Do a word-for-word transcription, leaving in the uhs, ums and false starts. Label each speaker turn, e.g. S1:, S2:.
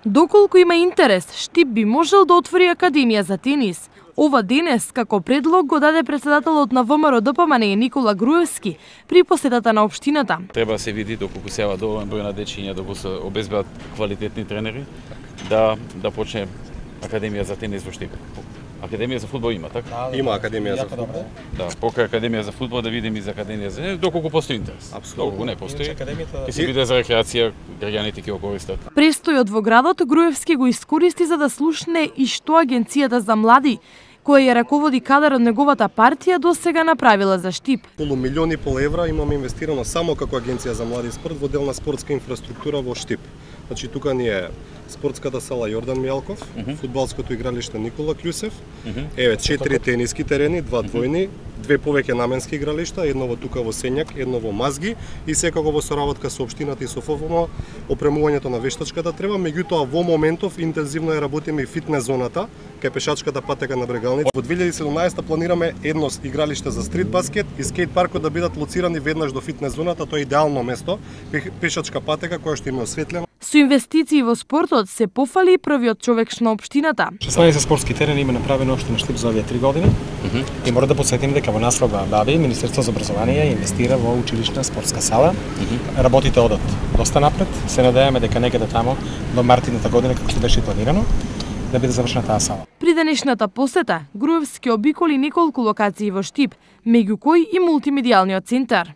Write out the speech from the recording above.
S1: Доколку има интерес, Штип би можел да отвори академија за тенис. Ова денес, како предлог, го даде председателот на ВМРО-ДПМН Никола Груевски при посетата на општината.
S2: Треба да се види доколку се ова доволен број на дечиња да го се обезбедат квалитетни тренери, да да почне академија за тенис во Штип. Академија за фудбал има, така?
S3: Да, има академија за фудбал.
S2: Да, покрај академија за фудбал да видиме и за академија за доколку постои интерес.
S3: Апсолутно.
S2: Доколку не постои, ќе се биде за рекреација, граѓаните ќе го користат.
S1: Престојот во градот Груевски го искористи за да слушне и што Агенцијата за млади, која ја раководи кадар од неговата партија, до сега направила за Штип.
S3: Околу милион и пол евра имаме инвестирано само како Агенција за млади и спорт во дел на спортска инфраструктура во Штип. Значи тука ни е спортската сала Јордан Мијалков, uh -huh. фудбалското игралиште Никола Кљусев, uh -huh. еве четири тениски терени, два двојни, две повеќе наменски игралишта, едно во тука во Сењак, едно во Мазги и секако во соработка со општината и со ФФМ опремувањето на вештачката треба. Меѓутоа во моментов интензивно ја работиме и фитнес зоната кај пешачката патека на Брегалница. Во две илјади и седумнаесетта планираме едно игралиште за стрит баскет и скејт паркот да бидат лоцирани веднаш до фитнес зоната, тоа е идеално место, пешачка патека која што им е осветлена.
S1: Со инвестиции во спортот се пофали првиот човек на општината.
S4: шеснаесет спортски терени има направено општина Штип за овие три години. Uh -huh. И мора да подсетим дека во наслова Баби Министерството за образование инвестира во училишна спортска сала. Uh -huh. Работите одат доста напред. Се надеваме дека некаде тамо до март идната година, како што беше планирано, да биде завршена таа сала.
S1: При денешната посета Груевски обиколи неколку локации во Штип, меѓу кои и мултимедијалниот центар.